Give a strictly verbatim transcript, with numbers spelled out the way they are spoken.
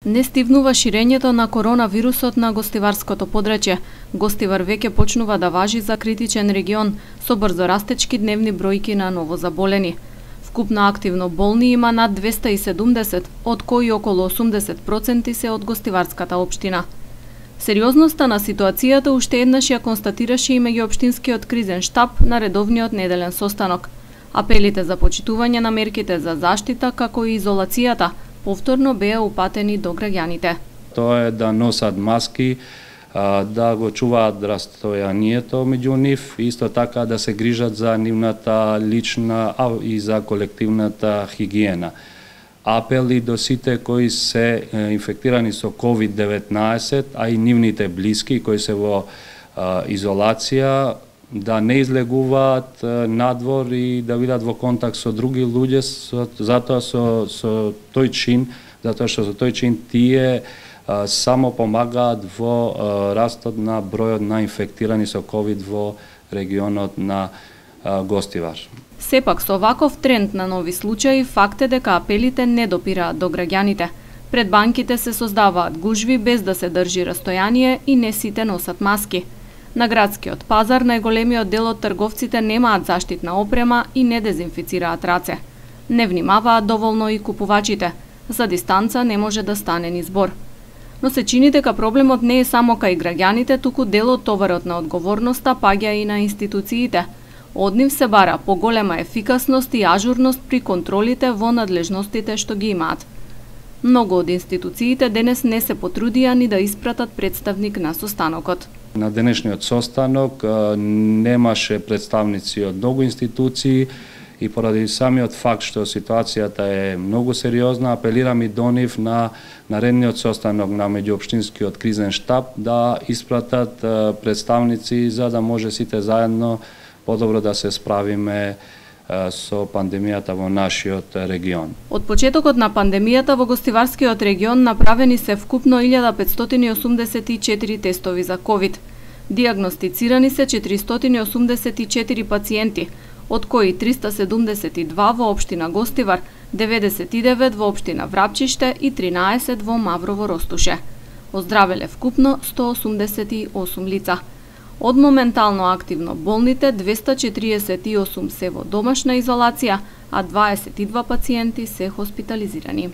Не стивнува ширењето на коронавирусот на гостиварското подрачје. Гостивар веќе почнува да важи за критичен регион со брзо растечки дневни бројки на новозаболени. Вкупно активно болни има над двеста и седумдесет, од кои околу осумдесет проценти се од гостиварската општина. Сериозноста на ситуацијата уште еднаш ја констатираше и меѓуопштинскиот кризен штаб на редовниот неделен состанок. Апелите за почитување на мерките за заштита како и изолацијата повторно беа упатени до граѓаните. Тоа е да носат маски, да го чуваат растојанието меѓу нив, исто така да се грижат за нивната лична и за колективната хигиена. Апели до сите кои се инфектирани со ковид деветнаесет, а и нивните блиски кои се во изолација, да не излегуваат надвор и да бидат во контакт со други луѓе, затоа со, со тој чин, затоа што со тој чин тие а, само помагаат во а, растот на бројот на инфектирани со ковид во регионот на а, Гостивар. Сепак со ваков тренд на нови случаи, факт е дека апелите не допираат до граѓаните. Пред банките се создаваат гужви без да се држи растојание и не сите носат маски. На градскиот пазар најголемиот дел од трговците немаат заштитна опрема и не дезинфицираат раце. Не внимаваат доволно и купувачите. За дистанца не може да стане ни збор. Но се чини дека проблемот не е само кај граѓаните, туку дел од товарот на одговорноста паѓа и на институциите. Од нив се бара поголема ефикасност и ажурност при контролите во надлежностите што ги имаат. Многу од институциите денес не се потрудија ни да испратат представник на состанокот. На денешниот состанок немаше представници од многу институции и поради самиот факт што ситуацијата е многу сериозна, апелирам и до нив на наредниот состанок на меѓуопштинскиот кризен штаб да испратат представници за да може сите заедно подобро да се справиме со пандемијата во нашиот регион. Од почетокот на пандемијата во Гостиварскиот регион направени се вкупно илјада петстотини и осумдесет и четири тестови за ковид. Дијагностицирани се четиристотини и осумдесет и четири пациенти, од кои триста седумдесет и два во општина Гостивар, деветдесет и девет во општина Врапчиште и тринаесет во Маврово Ростуше. Оздравеле вкупно сто осумдесет и осум лица. Од моментално активно болните, двеста четириесет и осум се во домашна изолација, а дваесет и два пациенти се хоспитализирани.